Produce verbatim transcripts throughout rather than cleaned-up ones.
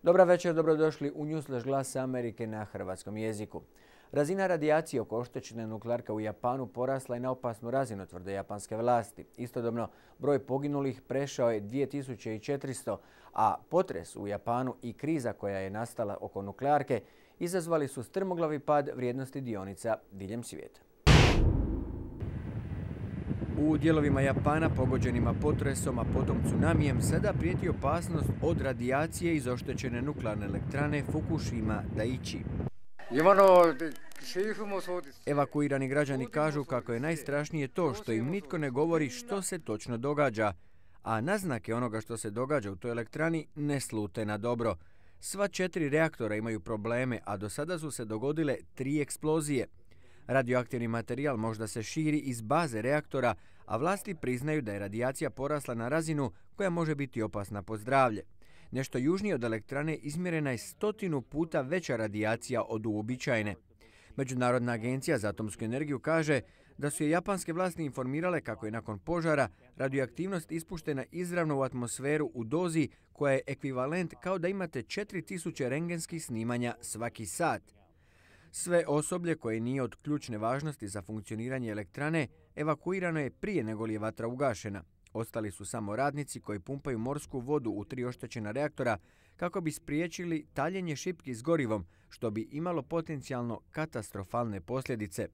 Dobra večer, dobrodošli u Newsflash Glas Amerike na hrvatskom jeziku. Razina radijacije oko oštećene nuklearke u Japanu porasla je na opasnu razinu, tvrde japanske vlasti. Istodobno, broj poginulih prešao je dvije tisuće četiristo, a potres u Japanu i kriza koja je nastala oko nuklearke izazvali su strmoglavi pad vrijednosti dionica diljem svijeta. U dijelovima Japana pogođenima potresom, a potom tsunamijem, sada prijeti opasnost od radijacije iz oštećene nuklearne elektrane Fukushima Daiichi. Evakuirani građani kažu kako je najstrašnije to što im nitko ne govori što se točno događa, a naznake onoga što se događa u toj elektrani ne slute na dobro. Sva četiri reaktora imaju probleme, a do sada su se dogodile tri eksplozije. Radioaktivni materijal možda se širi iz baze reaktora, a vlasti priznaju da je radijacija porasla na razinu koja može biti opasna po zdravlje. Nešto južnije od elektrane izmjerena je stotinu puta veća radijacija od uobičajene. Međunarodna agencija za atomsku energiju kaže da su je japanske vlasti informirale kako je nakon požara radioaktivnost ispuštena izravno u atmosferu u dozi koja je ekvivalent kao da imate četiri tisuće rentgenskih snimanja svaki sat. Sve osoblje koje nije od ključne važnosti za funkcioniranje elektrane evakuirano je prije nego li je vatra ugašena. Ostali su samo radnici koji pumpaju morsku vodu u tri oštećena reaktora kako bi spriječili taljenje šipki s gorivom, što bi imalo potencijalno katastrofalne posljedice.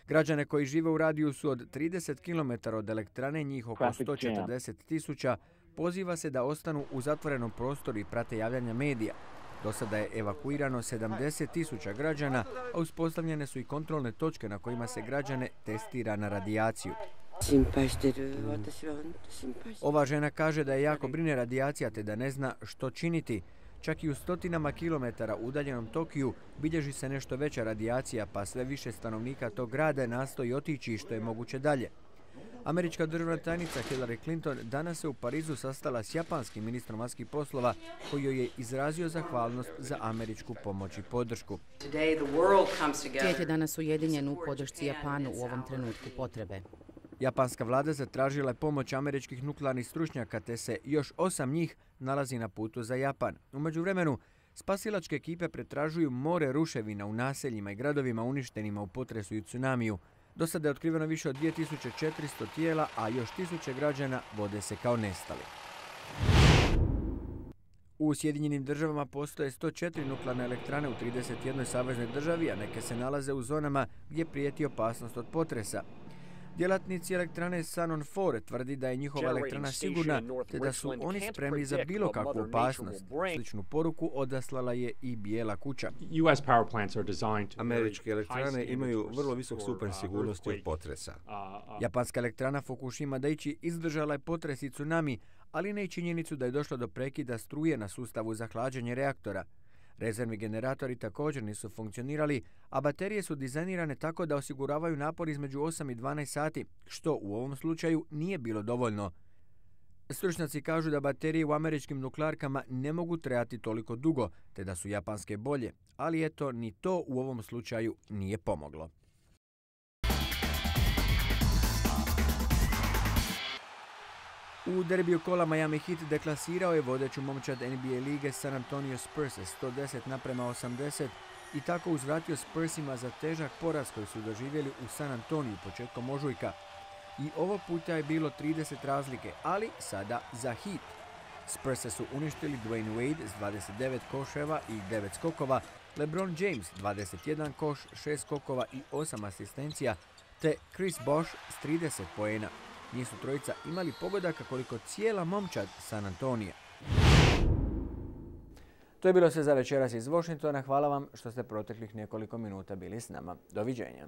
Građane koji žive u radijusu od trideset kilometara od elektrane, njih oko sto četrdeset tisuća, poziva se da ostanu u zatvorenom prostoru i prate javljanja medija. Do sada je evakuirano sedamdeset tisuća građana, a uspostavljene su i kontrolne točke na kojima se građane testira na radijaciju. Ova žena kaže da je jako brine radijacija te da ne zna što činiti. Čak i u stotinama kilometara udaljenom Tokiju bilježi se nešto veća radijacija, pa sve više stanovnika tog grada nastoji otići što je moguće dalje. Američka državna tajnica Hillary Clinton danas se u Parizu sastala s japanskim ministrom vanjskih poslova koji joj je izrazio zahvalnost za američku pomoć i podršku. Svijet je danas ujedinjen u podršci Japanu u ovom trenutku potrebe. Japanska vlada zatražila je pomoć američkih nuklearnih stručnjaka te se još osam njih nalazi na putu za Japan. U međuvremenu, spasilačke ekipe pretražuju more ruševina u naseljima i gradovima uništenima u potresu i tsunamiju. Do sada je otkriveno više od dvije tisuće četiristo tijela, a još tisuće građana vode se kao nestali. U Sjedinjenim državama postoje sto četiri nuklearne elektrane u trideset jednoj saveznoj državi, a neke se nalaze u zonama gdje prijeti opasnost od potresa. Djelatnici elektrane Sanon četiri tvrdi da je njihova elektrana sigurna te da su oni spremni za bilo kakvu opasnost. Sličnu poruku odaslala je i Bijela kuća. Američke elektrane imaju vrlo visok stupanj sigurnosti od potresa. Japanska elektrana Fukushima Daiichi izdržala je potres i tsunami, ali ne i činjenicu da je došlo do prekida struje na sustavu za hlađenje reaktora. Rezervni generatori također nisu funkcionirali, a baterije su dizajnirane tako da osiguravaju napor između osam i dvanaest sati, što u ovom slučaju nije bilo dovoljno. Stručnjaci kažu da baterije u američkim nuklearkama ne mogu trajati toliko dugo, te da su japanske bolje, ali eto, ni to u ovom slučaju nije pomoglo. U derbiju kola Miami Heat deklasirao je vodeću momčad N B A lige San Antonio Spurs sto deset naprema osamdeset i tako uzvratio Spursima za težak poraz koji su doživjeli u San Antoniju početkom ožujka. I ovog puta je bilo trideset razlike, ali sada za Heat. Spurse su uništili Dwayne Wade s dvadeset devet koševa i devet skokova, LeBron James dvadeset jedan koš, šest skokova i osam asistencija, te Chris Bosh s trideset poena. Njih su trojica imali pogodaka koliko cijela momčad San Antonija. To je bilo sve za večeras iz Washingtona. Hvala vam što ste proteklih nekoliko minuta bili s nama. Doviđenja.